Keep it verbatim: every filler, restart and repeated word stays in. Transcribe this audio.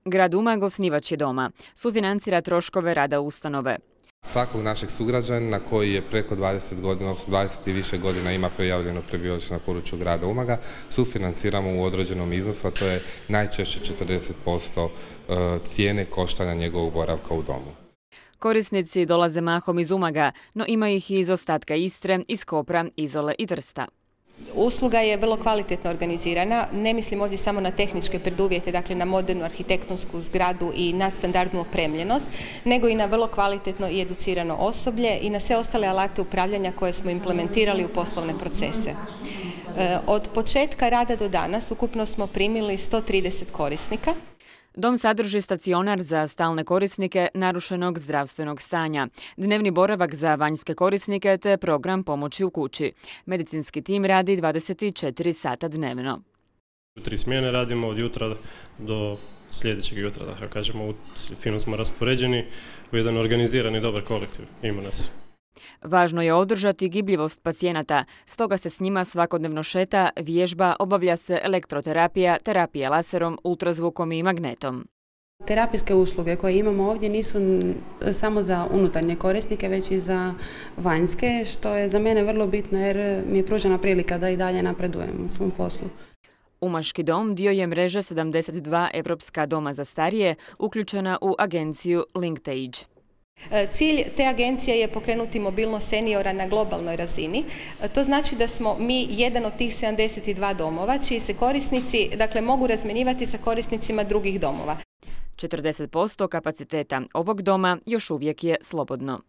Grad Umag osnivač je doma. Sufinancira troškove rada ustanove. Svakog našeg sugrađanina koji je preko dvadeset godina, odnosno dvadeset i više godina ima prijavljeno prebivalište na području grada Umaga, sufinanciramo u određenom iznosu, a to je najčešće četrdeset posto cijene koštanja njegovog boravka u domu. Korisnici dolaze mahom iz Umaga, no ima ih i iz ostatka Istre, iz Kopra, Izole i Trsta. Usluga je vrlo kvalitetno organizirana, ne mislim ovdje samo na tehničke preduvjete, dakle na modernu arhitektonsku zgradu i na standardnu opremljenost, nego i na vrlo kvalitetno i educirano osoblje i na sve ostale alate upravljanja koje smo implementirali u poslovne procese. Od početka rada do danas ukupno smo primili sto trideset korisnika. Dom sadrži stacionar za stalne korisnike narušenog zdravstvenog stanja, dnevni boravak za vanjske korisnike te program pomoći u kući. Medicinski tim radi dvadeset četiri sata dnevno. U tri smjene radimo od jutra do sljedećeg jutra, da kažemo, fino smo raspoređeni u jedan organizirani dobar kolektiv. Ima nas. Važno je održati gibljivost pacijenata, stoga se s njima svakodnevno šeta, vježba, obavlja se elektroterapija, terapija laserom, ultrazvukom i magnetom. Terapijske usluge koje imamo ovdje nisu samo za unutarnje korisnike, već i za vanjske, što je za mene vrlo bitno jer mi je pružena prilika da i dalje napredujem u svom poslu. Umaški dom dio je mreže sedamdeset dva evropska doma za starije, uključena u agenciju Linktage. Cilj te agencije je pokrenuti mobilnost seniora na globalnoj razini. To znači da smo mi jedan od tih sedamdeset dva domova čiji se korisnici dakle, mogu razmjenjivati sa korisnicima drugih domova. četrdeset posto kapaciteta ovog doma još uvijek je slobodno.